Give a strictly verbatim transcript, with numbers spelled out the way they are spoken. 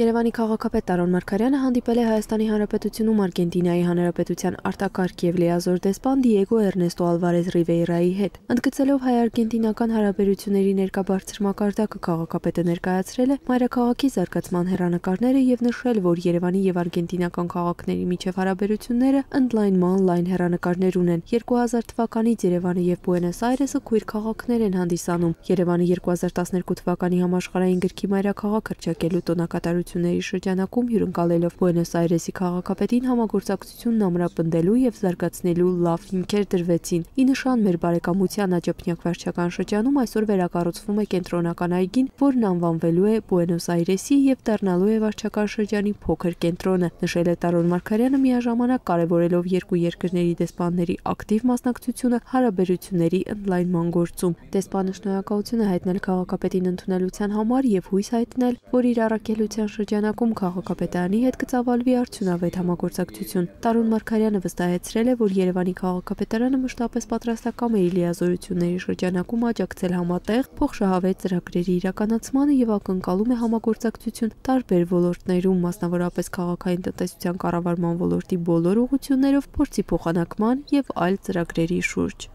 Երևանի քաղաքապետ Տարոն Մարգարյանը հանդիպել է Հայաստանի Հանրապետությունում Արգենտինայի Հանրապետության արտակարգ և լիազոր դեսպան Դիեգո Էրնեստո Ալվարեզ Ռիվեյրայի հետ։ Ընդգծելով հայ-արգենտինական հարաբերությունների ներկա բարձր մակարդակը, քաղաքապետը ներկայացրել է մայրաքաղաքի զարգացման հեռանկարները և նշել, որ Երևանի և արգենտինական քաղաքների միջև հարաբերությունները ընդլայնման լայն հեռանկարներ ունեն։ երկու հազար թվականից Երևանը և Բուենոս Այրեսը քույր քաղաքներ են հանդիսանում։ Երևանը երկու հազար տասներկու թվականի համաշխարհային գրքի մայրաքաղաք հռչակելու տոնակատարությունների շրջանակում հյուրընկալելով Բուենոս Այրեսի քաղաքապետին համագործակցությունն ամրապնդելու և զարգացնելու լավ հիմքեր դրվեցին։ Ի նշան մեր բարեկամության աջափնյակ վարչական շրջանում այսօր վերակառուցվում է կենտրոնական այգին, որն անվանվելու է Բուենոս Այրեսի և դառնալու է վարչական շրջանի փոքր կենտրոնը, նշել է Տարոն Մարգարյանը, միաժամանակ կարևորելով երկու երկրների դեսպանների ակտիվ մասնակցությունը հարաբերությունների ընդլայնման գործում։ Դեսպանը շնորհակալություն է հայտնել քաղաքապետին ընդունելության համար և հույս հայտնել, որ իր առաքելության շրջանակում քաղաքապետարանի հետ կծավալվի արդյունավետ համագործակցություն։ Տարոն Մարգարյանը վստահեցրել է, որ Երևանի քաղաքապետարանը մշտապես պատրաստակամ է իր լիազորությունների շրջանակում աջակցել համատեղ փոխշահավետ ծրագրերի իրականացմանը և ակնկալում է համագործակցություն տարբեր ոլորտներում, մասնավորապես քաղաքային տնտեսության կառավարման ոլորտի բոլոր ուղղություններով, փորձի փոխանակման և այլ ծրագրերի շուրջ։